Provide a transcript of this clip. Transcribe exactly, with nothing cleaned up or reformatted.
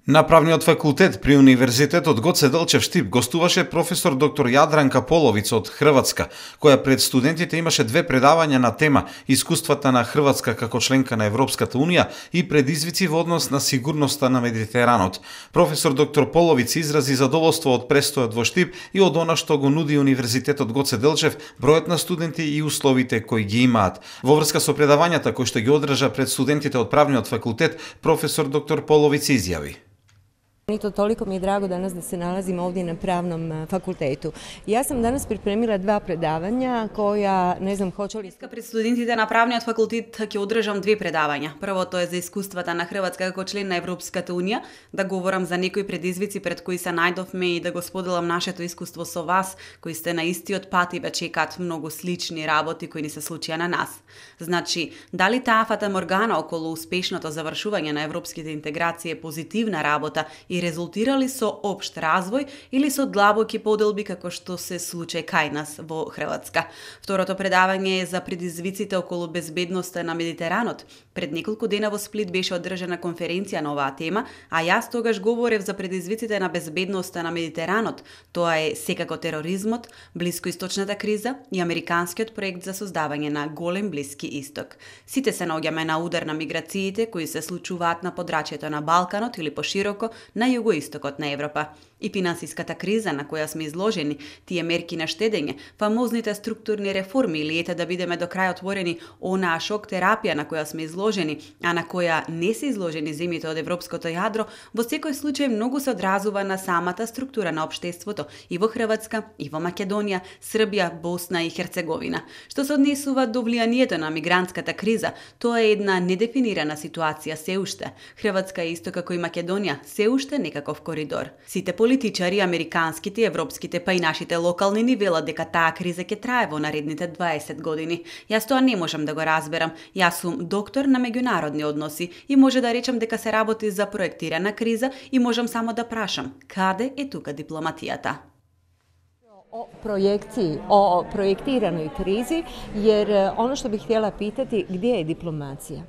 На правниот факултет при Универзитетот Гоце Делчев Штип гостуваше професор доктор Јадранка Половица од Хрватска, која пред студентите имаше две предавања на тема Искуствата на Хрватска како членка на Европската Унија и предизвици во однос на сигурноста на Медитеранот. Професор доктор Половица изрази задоволство од престојот во Штип и од она што го нуди Универзитетот Гоце Делчев, бројот на студенти и условите кои ги имаат. Во врска со предавањата кои што ги одржа пред студентите од правниот факултет, професор доктор Половица изјави: Nito, toliko mi je drago danas da se nalazim ovdje na pravnom fakultetu. Ja sam danas pripremila dva predavanja koja, ne znam, hoće li... Пред студентите на правниот факултет ќе одржам две предавања. Првото е за искуствата на Хрватска како член на Европската Унија, да говорам за некои предизвици пред кои се најдовме и да го споделам нашето искуство со вас, кои сте на истиот пат и ве чекаат многу слични работи кои ни се случија на нас. Значи, дали таа фатаморгана околу успешното завршување на европските интеграции е позитивна работа и резултирали со општ развој или со длабоки поделби како што се случај кај нас во Хрватска. Второто предавање е за предизвиците околу безбедноста на Медитеранот. Пред неколку дена во Сплит беше одржана конференција на оваа тема, а јас тогаш говорев за предизвиците на безбедноста на Медитеранот. Тоа е секако тероризмот, блискоисточната криза и американскиот проект за создавање на голем Блиски исток. Сите се наоѓаме на удар на миграциите кои се случуваат на подрачјето на Балканот или пошироко на југоистокот на Европа. И финансиската криза на која сме изложени, тие мерки на штедење, фамозните структурни реформи или ете да бидеме до крај отворени онаа шок терапија на која сме изложени, а на која не се изложени земјите од европското јадро, во секој случај многу се одразува на самата структура на општеството и во Хрватска, и во Македонија, Србија, Босна и Херцеговина. Што се однесува до влијанието на мигрантската криза, тоа е една недефинирана ситуација се уште. Хрватска е исто како и Македонија, се уште некаков коридор. Сите политичари, американските, европските, па и нашите локални ни велат дека таа криза ќе трае во наредните дваесет години. Јас тоа не можам да го разберам. Јас сум доктор на меѓународни односи и може да речам дека се работи за проектирана криза и можам само да прашам, каде е тука дипломатијата? O projekciji, o projektiranoj krizi, jer ono što bih htjela pitati, gdje je diplomacija?